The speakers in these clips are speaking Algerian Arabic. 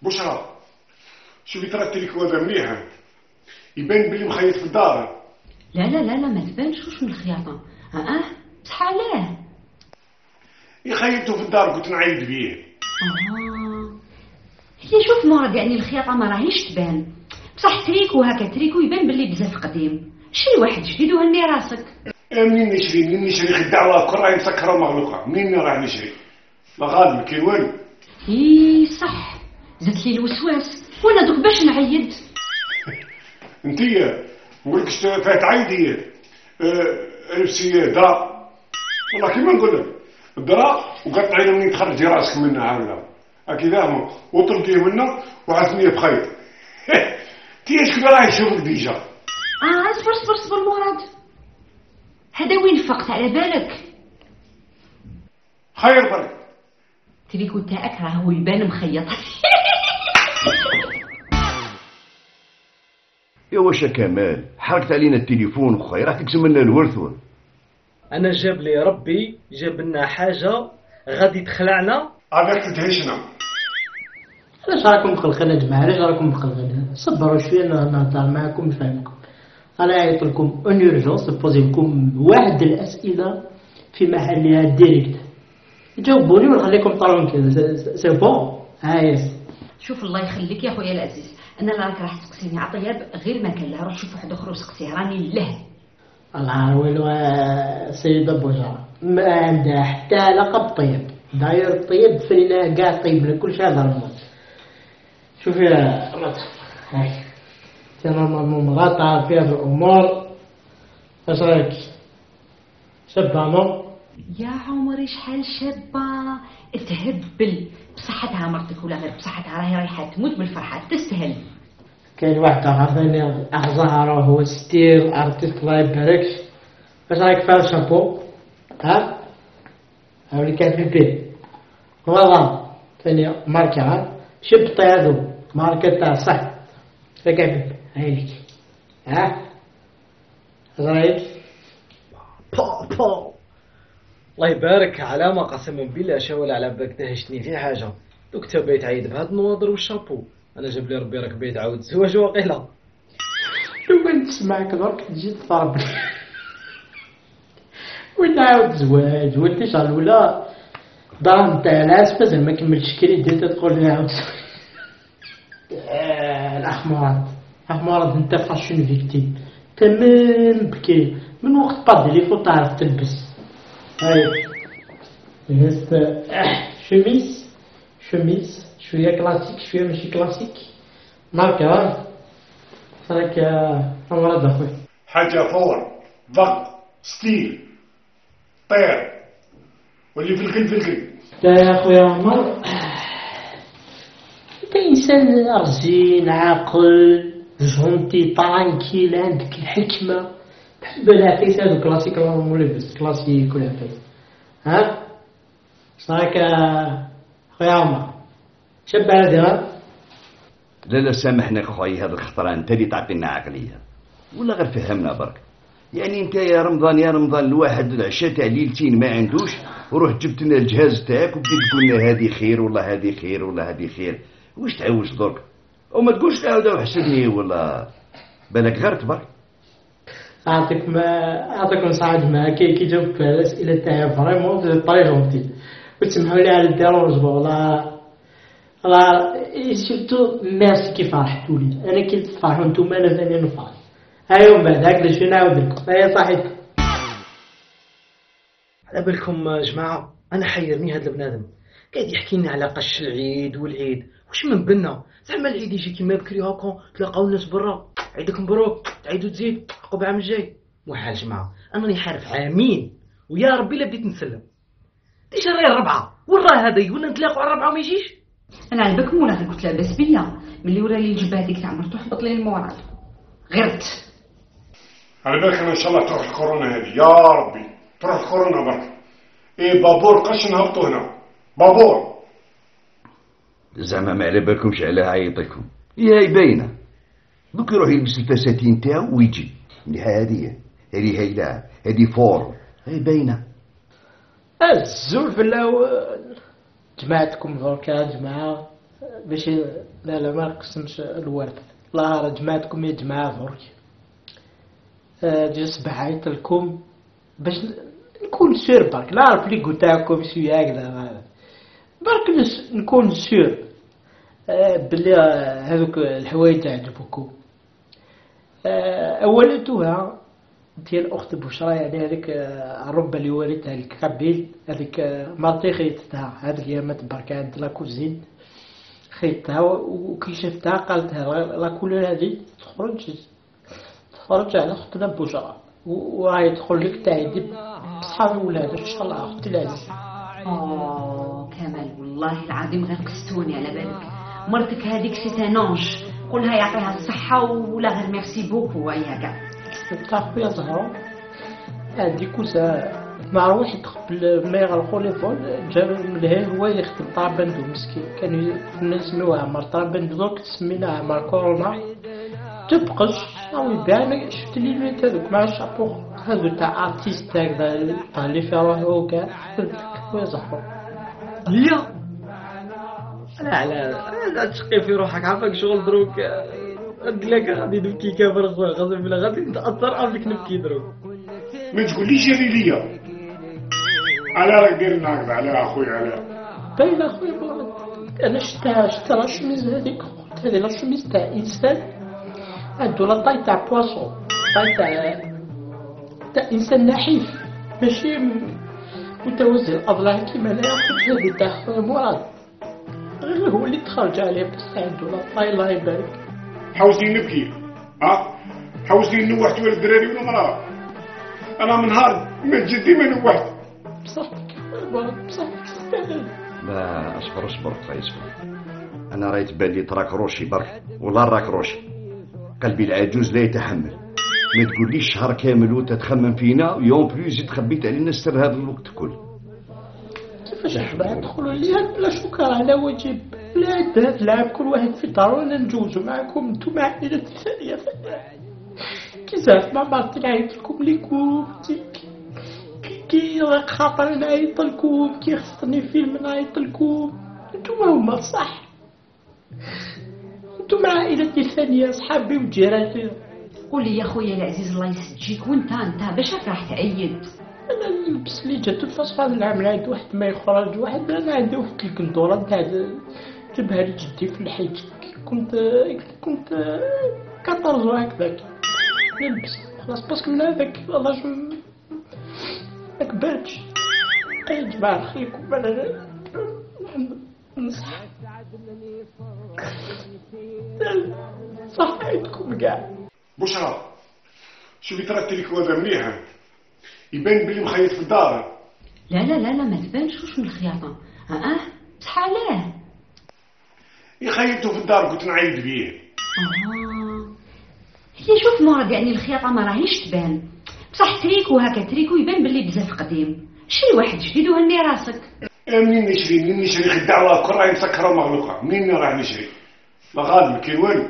بشرى شوفي ترى التليفون هذا مليح، يبان بلي مخيط في الدار. لا لا لا لا ما تبانش واش من الخياطه. بصح علاه يخيطوا في الدار كنت نعيد بيه. هي شوف مراد، يعني الخياطه ما راهيش تبان، بصح تريكو هكا تريكو يبان بلي بزاف قديم. شري واحد جديد وهني راسك. منين نشري خداعه كل راهي مسكره ومغلوقه، منين راح نشري؟ لا غالي ما كاين والو. صح زدت لي الوسواس وانا دوك باش نعيد. انتيا نقول لك فات عيدي لبسي درا، والله كيما نقول لك درا وقطعي منين تخرجي راسك منها هكذا هكذا وطلقيه منها وعثنيه بخيط. تي شكون راه يشوفك ديجا؟ صبر مراد، هذا وين فقت على بالك؟ خير برك تريكو تاعك راه هو يبان مخيط. يا واش كمال حركت علينا التليفون وخاي راح تقسم لنا الورث. انا جاب لي ربي جاب لنا حاجه غادي تخلعنا عليك تدهشنا. علاش راكم مخلخين يا جماعه؟ علاش راكم مخلخين؟ صبروا شويه نهضر معكم نفهمكم. انا عيط لكم اون اورجونس نبوزي لكم واحد الاسئله في محلها ديريكت، جاوبوني ونخليكم طرونكيل. سي بون هايس. شوف الله يخليك يا خويا العزيز، انا لا راك راح تسقسيني عطياب غير ما كان لها، روح شوف واحد اخر وسقسيه راني له. الله ويلو سيدة بوجرة ما عندها حتى علاقة بالطيب، داير الطيب فينا كاع طيب لنا كلشي هذا الموت. شوفي يا مرات هاي انت نورمالمون مرات تعرف فيها بالامور، اش رايك؟ شابة نو؟ يا عمري شحال شابة تهبل بصحتها مرتك ولا غير بصحتها، راهي رايحة تموت بالفرحة تستاهل. كاين واحد عرفني أخزهر هو ستيل ارتيست الله يباركش. اش رايك في الشامبو؟ هاولي كان في البيت والله ثاني ماركة شبطي هذو ماركة تاع صح فكيف هايليك اش رايك؟ الله يبارك علامه قسما بالله شاول على بالك دهشتني في حاجه. دوك تا بيت عيد بهاد النواظر والشابو، انا جاب لي ربي راك بيت عاود زواج واقيلا. لو كنت تسمعك درك تجي تضرب وتعاود زواج وانت شغل ولا دار نتاع العاس مازال ما كملتش كريدي تقول لي عاود الاخ مراد انت فاشون فيكتيم تمام بكي من وقت بادي لي فوت تعرف تلبس. هاي لبست شميس شويه كلاسيك شويه ماشي كلاسيك ماركه راك مراد اخويا حاجه فور ضغط ستيل طير واللي في القلب. يا اخويا عمر انت انسان رزين عاقل جونتي طرانكيل عندك الحكمه، تحب العفيس هذو كلاسيك راهم لابس كلاسيك ولا عفيس. صاك خويا عمر شاب هذا؟ لا سامحنا خويا هذا الخطره انت اللي تعطينا عقليه ولا غير فهمنا برك. يعني انت يا رمضان الواحد العشاء تاع ليلتين ما عندوش وروح جبت لنا الجهاز تاعك وبديت تقول لنا هذه خير ولا هذه خير ولا هذه خير. واش تعوج درك وما تقولش تعاود وحسبني ولا بالك غير تبارك. اعطيكم صحه جماعه كي جاوبت على الاسئله تاعي فريمون طري جونتي وتسمحوا لي على الديرونج والله سيرتو ميرسي كي فرحتوا لي. انا كي تفرحوا نتوما انا ثاني نفرح. هاي من بعد هكذا شنو نعاود لكم هيا صحيت. على بالكم جماعه انا حيرني هذا البنادم قاعد يحكي لنا على قش العيد والعيد واش من بنا زعما العيد يجي كيما بكري هاكا تلاقاو الناس برا عيدك مبروك تعيدوا تزيد عقب عام الجاي. محال جماعه انا راني حارف عامين ويا ربي لا بديت نسلم ديجا راهي الربعه وراه هذا ولا نتلاقوا على الربعه وما يجيش. انا على بالكم ولا قلت لاباس بيا ملي ورا لي الجبه هذيك تاع مرتو حبط لي المورال غيرت. على بالك ان شاء الله تروح الكورونا هذه يا ربي تروح الكورونا برك. بابور قش نهبطوا هنا بابور زعما ما على بالكمش على عيطكم هي باينه دوك يروح يلبس الفساتين تاعو ويجي هذه هيله هذه فور هي باينه. الزول في الاول جماعتكم دركا جماعه باش لا ما نقسمش الورث. الله راه جماعتكم يا جماعة درك. جا صباح عيط لكم باش نكون سير برك نعرف لي قلت لكم شي هكذا برك نكون سير بلي هذوك الحوايج تعجبكم. اولا توها ديال اخت بشرى يعني هذيك الربه اللي ولدتها الكابيل هذيك مرتي خيتها هذيك هي ما تبارك عند لا كوزين خيتها وكي شفتها قالتها لا كولور هذه تخرج على اختنا بشرى وراهي تدخل لك تعيدي بصحاب ولاد ان شاء الله اختي العزيزه. كمال والله العظيم غير قستوني على بالك مرتك هذيك سي انونج قولها يعطيها الصحه ولا غير ميرسي بوكو وياها كاع. تعرف يا زهره هذيك وسا مع واحد قبل ما يغلقوا لي فول جاب من لهيه هو يخدم طرابندو مسكين كانوا نسميوها عمر طرابندو دوك سميناها عمر كورونا تبقش او يبان شفت لي البيت هذوك مع الشابو هذو تاع ارتيست هكذا تاع اللي في روحه وكاع يا زهره. لا لا تشقي في روحك عافاك شغل دروك قلت غادي نبكي كافر غصب بالله غادي نتاثر افيك نبكي دروك. ما تقوليش جري ليا على راك دير هكذا على اخويا على باين اخويا انا شتا لا شميز هذيك هذه لا شميز تاع انسان عنده لا طاي تاع بواسون طاي تاع انسان نحيف ماشي متوازي الاضلاع كيما انا ياخذ هذه تاع خويا مراد غير هو اللي تخرج عليه بس عنده لا طاي الله يبارك. حوسني نبكي حوسني نوحت ولا الدراري ولا مراه انا من نهار ما جدي ما نوحت بصحتك بصحتك. لا اصبر خويا اصبر. انا رايت بالي تراك روشي برك ولا راك روشي قلبي العجوز لا يتحمل. ما تقوليش شهر كامل وتتخمم فينا ويوم بلوز تخبيت علينا السر هذا الوقت كل. كيفاش حنا ندخلوا ليها بلا شكر على واجب لا تلعب كل واحد في دارو انا نجوزوا معكم انتم عائلة ثانية كي زعف ما بعرف نعيط لكم ليكم كي خاطر نعيط لكم كي خصني فيلم نعيط لكم انتم هما صح انتم عائلتي الثانية صحابي وجيراني. قولي يا خويا العزيز الله يسجيك وانت باش راح تعيد. انا نلبس لي جات الفاس هذا العام عند واحد ما يخرج واحد انا عندي واحد الكندوره تاع جبها لجدي في الحيط كنت 14 هكذاك نلبس خلاص باسكو من هذاك الله ما كبرتش. يا جماعه خليكم انا نصح صح عندكم كاع. بشرى شوفي ترى التليفون هذا مليح يبان بلي مخيط في الدار. لا ما تبانش واش من الخياطه بصح علاه يخيطوا في الدار كنت نعيد بيه. هي شوف مرض يعني الخياطه ما راهيش تبان بصح تريكو هكا تريكو يبان بلي بزاف قديم. شري واحد جديد وهني راسك. منين نشري خداعه كل راهي مسكره ومغلوقه منين راح نشري لا غالب ما كاين والو.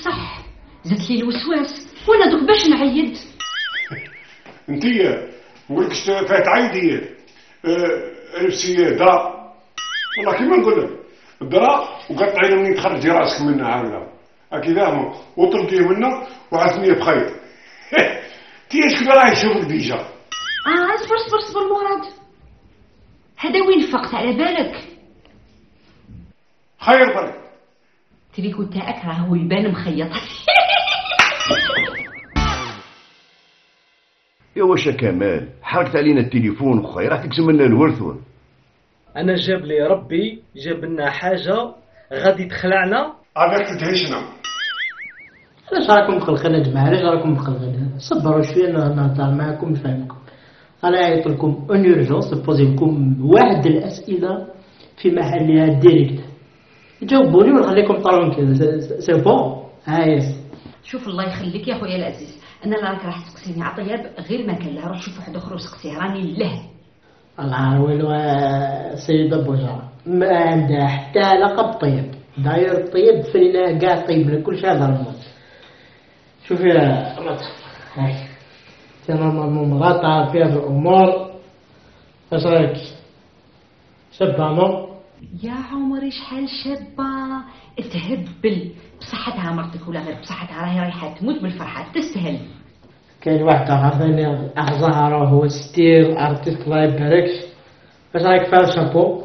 صح زدت لي الوسواس وانا دوك باش نعيد. انتيا نقولكش فات عيدي نفسي درا والله كيما نقول لك درا وقطعي منين تخرجي راسك منها هكذا هكذا وطلقيه منها وعثنيه بخيط. تياش كذا راهي يشوفك ديجا. اصبر مراد هذا وين فقت على بالك خير برك تريكو تاعك راهو يبان مخيط. يا واش كمال حركت علينا التليفون خويا راح تقسم لنا الورث. انا جاب لي ربي جاب لنا حاجه غادي تخلعنا هذاك تدهشنا. علاش راكم مخلخين يا جماعه علاش راكم مخلخين صبروا شويه نهضر معكم نفهمكم. انا عيط لكم اون اورجونس نبوزي لكم واحد الاسئله في محلها ديريكت جاوبوني ونخليكم طالعون كذا سي بون. شوف الله يخليك يا خويا العزيز انا لا راك راح تسقسيني عطياب غير ما كان لها روح شوف واحد اخر وسقسيه راني له. الله ويلو سيدة بوجرة ما عندها حتى لقب طيب داير طيب فينا كاع طيب لكل شيء هذا الموت. شوفي يا هاي انا مرات في هذه الامور اش رايك شبانو يا عمري شحال شابة تهبل بصحتها مرتك ولا غير بصحتها، راهي رايحة تموت بالفرحة تستاهل. كاين واحد آخر ثاني أخ زهرة هو ستيل ارتيست الله يباركش. واش رايك فيها الشامبو؟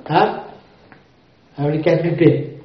ها؟ هاولي كان في البيت